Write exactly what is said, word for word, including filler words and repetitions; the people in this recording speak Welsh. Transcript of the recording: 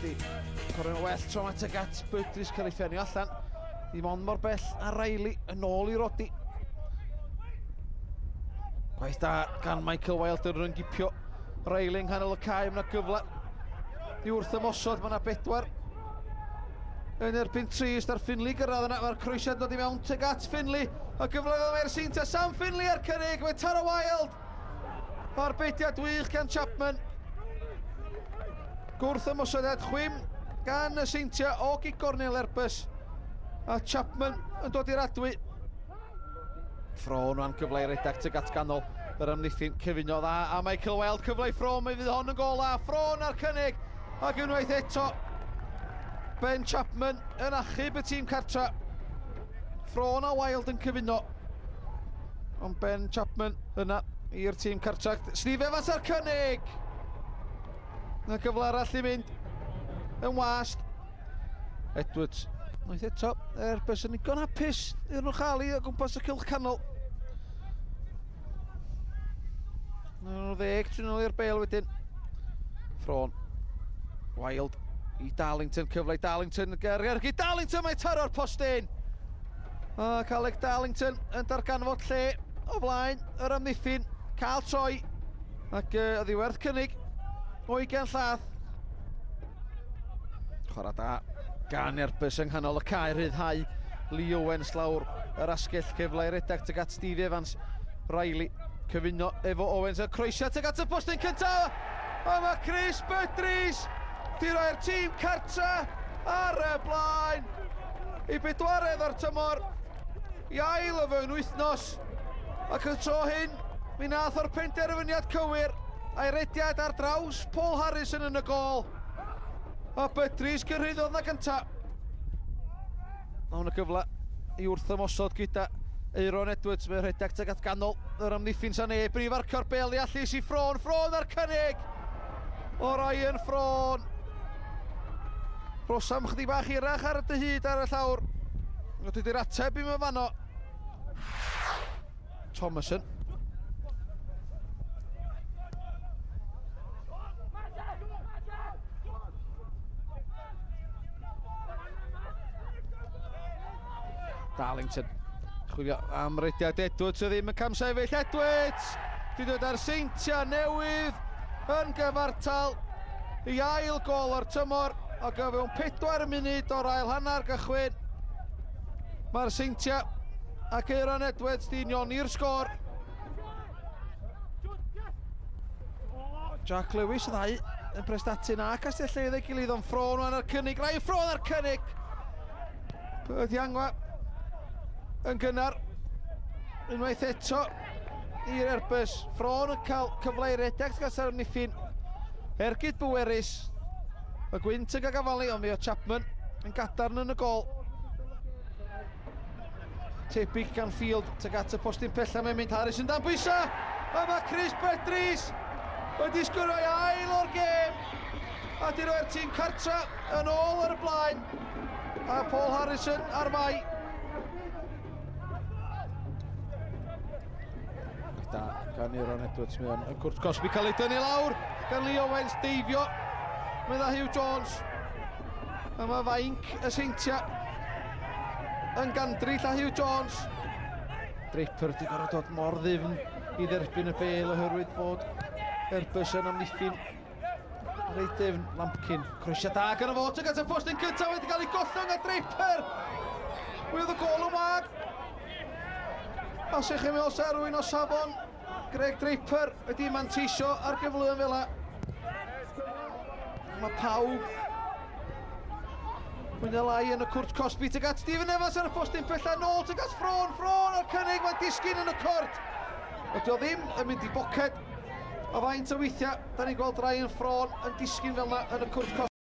Roddy. Corwyn well tro yma tuag at Budris cael ei ffenio allan. Ddim ond mor bell a Riley yn ôl i Roddy. Gwaith da gan Michael Wilde yn ryngipio Riley yng nghanol y cae. Mae yna gyfle i wrth ymosod. Mae yna bedwar yn erbyn tri. Ysdar Finley gyrraedd yna. Mae'r croesiad dod i mewn tuag at Finley. A gyfle iddo mae'r Seintiau. Sam Finley ar cynnig. Mae Tara Wilde. Arbediad wych gan Chapman. Gwrth ymosodiad chwim gan y Seintiau o gig gornel Airbus. A Chapman yn dod i'r adwy. Ffron o'n cyfle i redag tuag at ganol yr amddiffyn, cyfuno dda a Michael Wilde, cyfle i Ffron, mi fydd hon yn gol a Ffron ar cynnig ac unwaith eto Ben Chapman yn achub y tîm cartra. Ffron a Wilde yn cyfuno, ond Ben Chapman yna i'r tîm cartra. Steve Evans ar cynnig! Na cyfle arall i mynd yn wast. Edwards. Unwaith eto, Airbus yn ddigon hapus iddyn nhw chael i o gwmpas y cylch canol. Nhw ddeg, trwy nôl i'r bel wedyn. Ffron. Wilde i Darlington, cyfle i Darlington, ger i Darlington, mae taro'r postyn. Ac Alec Darlington yn darganfod lle o flaen yr amddiffyn, cael troi, ac uh, oddi werth cynnig o ugain llath. Chwarae da gan Airbus yng nghanol y cae, rhyddhau Lee Owens lawr yr asgell, cyfle i redag tuag at Steve Evans. Riley cyfuno efo Owens, y croesiad tuag at y postyn cyntaf, a mae Chris Budris di roi'r tîm cartra ar y blaen i bedwaredd o'r tymor, i ail o fewn wythnos, ac y tro hyn mi nath o'r penderfyniad cywir a'i rediad ar draws Paul Harrison yn y gôl. A Budris gyrhaeddodd na gynta. Mae hwn y cyfle i wrth ymosod gyda Euron Edwards. Mae'n rhedeg tuag at ganol yr amddiffyn sa neb. Brif arcio'r bel i allu i Ffron. Ffron ar cynnig! O Ryan Ffron. Rosam chydig bach hirach ar y dyhyd ar y llawr. Dydy'r ateb i'm yn fanno. Thomason. Darlington chwilio am rediad Edwards, o ddim yn camsefyll. Edwards di dod ar Seintiau Newydd yn gyfartal i ail gol o'r tymor ac o fewn pedwar munud o'r ail hanner gychwyn mae'r Seintiau ac Euron Edwards di unioni'r sgôr. Jack Lewis y ddau yn Prestatyn a Castell Nedd ei gilydd, ond Ffron wan ar cynnig. Ryan Ffron ar cynnig! Dihangfa yn gynnar unwaith eto i'r Airbus. Ffron yn cael cyfle i redeg tuag at yr amddiffyn. Ergyd bwerus. Y gwynt yn gagafalu, ond mi o Chapman yn gadarn yn y gol. Tebyg gan Field tuag at y postyn pella, mae'n mynd Harris yn dan bwysa. A mae Chris Budris wedi sgorio ei ail o'r gêm a di roi'r tîm cartra yn ôl ar y blaen. A Paul Harrison ar fai. Da gan Euron Edwards, mae o'n y cwrt cosbi cael ei dynnu lawr gan Lee Owens, deifio. Mae dda Hugh Jones. A mae fainc y Seintiau yn gandryll a Hugh Jones. Draper wedi gorfod dod mor ddyfn i dderbyn y bel oherwydd fod Airbus yn amddiffyn reit dyfn. Lampkin, croesiad da gan y fo tuag at y postyn cyntaf wedi cael ei gollwng a Draper. Mi oedd y gôl yn wag. A sech chi'n meddwl sa rhywun o safon Greg Draper wedi manteisio ar gyfleoedd fel 'na. Mae pawb mwy neu lai yn y cwrt cosbi tuag at Stephen Evans ar y postyn pella, nôl tuag at Ffron. Ffron o'r cynnig, mae'n disgyn yn y cwrt. Ydy o ddim yn mynd i boced. O faint o weithiau, da ni'n gweld Ryan Ffron yn disgyn fel yna yn y cwrt cosbi.